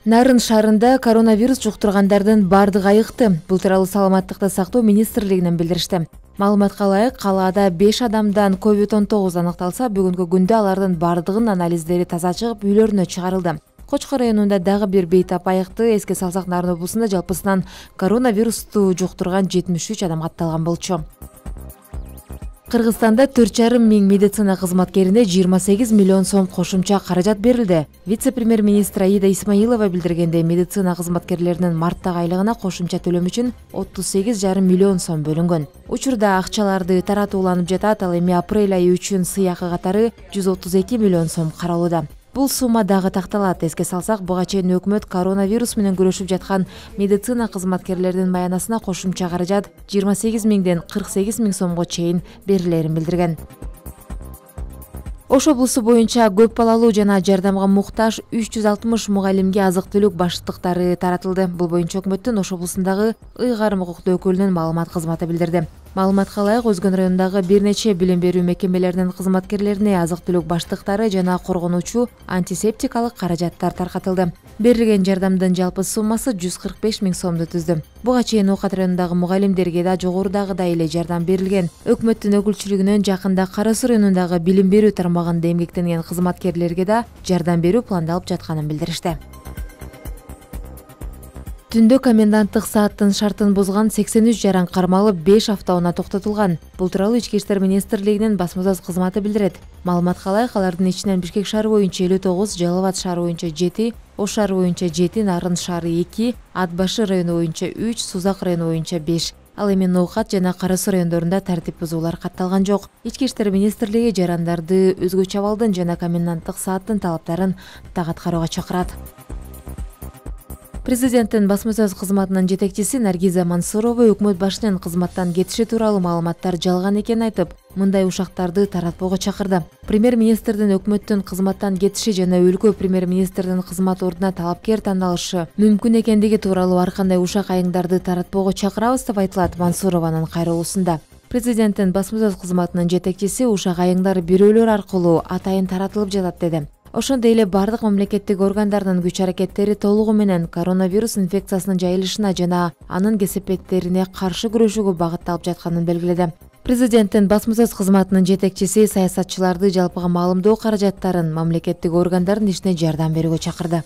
Нарын шаарында коронавирус жуктургандардын бардыгы айыкты. Бул тууралуу Саламаттыкты сактоо министрлигинен билдиришти. Маалыматка ылайык, калаада 5 адамдан COVID-19 аныкталса, бүгүнкү күндө алардын бардыгынын анализдери таза чыгып, үйлөрүнө чыгарылды. Кочкор районунда дагы бир бейтап айыкты. Эске салсак, Нарын облусунда жалпысынан коронавирусту жуктурган 73 адам катталган болчу. Кыргызстанда 4,5 миң медицина кызматкерине 28 миллион сом кошумча каражат берилди. Вице-премьер-министр Аида Исмаилова билдиргендей, медицина кызматкерлеринин марттагы айлыгына кошумча төлөм үчүн 38,5 миллион сом бөлүнгөн. Учурда акчаларды таратуу уланып жатат, ал эми апрель айы үчүн сыйакы катары 132 миллион сом каралууда. Бул сумма дагы такталат. Эске салсак, буга чейин өкмөт коронавирус менен күрөшүп жаткан медицина кызматкерлеринин маянасына кошумча каражат 28 миңден 48 миң сомго чейин берилерин билдирген. Ош облусу боюнча көп балалуу жана жардамга муктаж 360 мугалимге азык-түлүк баштыктары таратылды. Бул боюнча өкмөттүн Ош облусундагы ыйгарым укуктуу өкүлүнүн маалымат кызматы билдирди. Маалыматка ылайык, Өзгөн районундагы бир нече билим берүү мекемелеринин кызматкерлерине азык-түлүк баштыктары жана коргонуучу антисептикалык каражаттар таркатылды. Берилген жардамдын жалпы суммасы 145 миң сомду түздү. Буга чейин Окат районундагы мугалимдерге да жогорудагыдай эле жардам берилген. Өкмөттүн өкүлчүлүгүнөн жакында Кара Суу районундагы билим берүү тармагында эмгектенген кызматкерлерге да жардам берүү пландалып жатканын билдиришти. Түндө коменданттык сааттын шартын бузган 83 жаран кармалып, 5 автоунаа токтотулган. Бул тууралуу Ички иштер министрлигинин басма сөз кызматы билдирет. Маалыматка ылайык, алардын ичинен Бишкек шаары боюнча 59, Жалал Абад шаары боюнча 7, Ош шаары боюнча 7, Нарын шаары 2, Ат Башы району боюнча 3, Сузак району боюнча 5. Ал эми Ноокат жана Кара Суу райондорунда тартип бузуулар катталган жок. Ички иштер министрлиги жарандарды өзгөчө абалдын жана коменданттык сааттын талаптарын так аткарууга чакырат. Президенттин басма сөз кызматынын жетекчиси Наргиза Мансурова өкмөт башчынын кызматтан кетиши тууралуу маалыматтар жалган экенин айтып, мындай ушактарды таратпоого чакырды. Премьер-министрдин өкмөттүн кызматтан кетиши жана өлкө премьер-министрдин кызмат ордуна талапкер тандалышы мүмкүн экендиги тууралуу ар кандай ушак айыңдарды таратпоого чакырабыз деп айтылат Мансурованын кайрылуусунда. Президенттин басма сөз кызматынын жетекчиси ушак айыңдар бирөөлөр аркылуу атайын таратылып жатат деди. Ошондой эле бардык мамлекеттик органдардын күч-аракеттери толугу менен коронавирус инфекциясынын жайылышына жана анын кесепеттерине каршы күрөшүүгө багытталып жатканын белгиледи. Президенттин басма сөз кызматынын жетекчиси саясатчыларды жалпыга маалымдоо каражаттарын мамлекеттик органдардын ишине жардам берүүгө чакырды.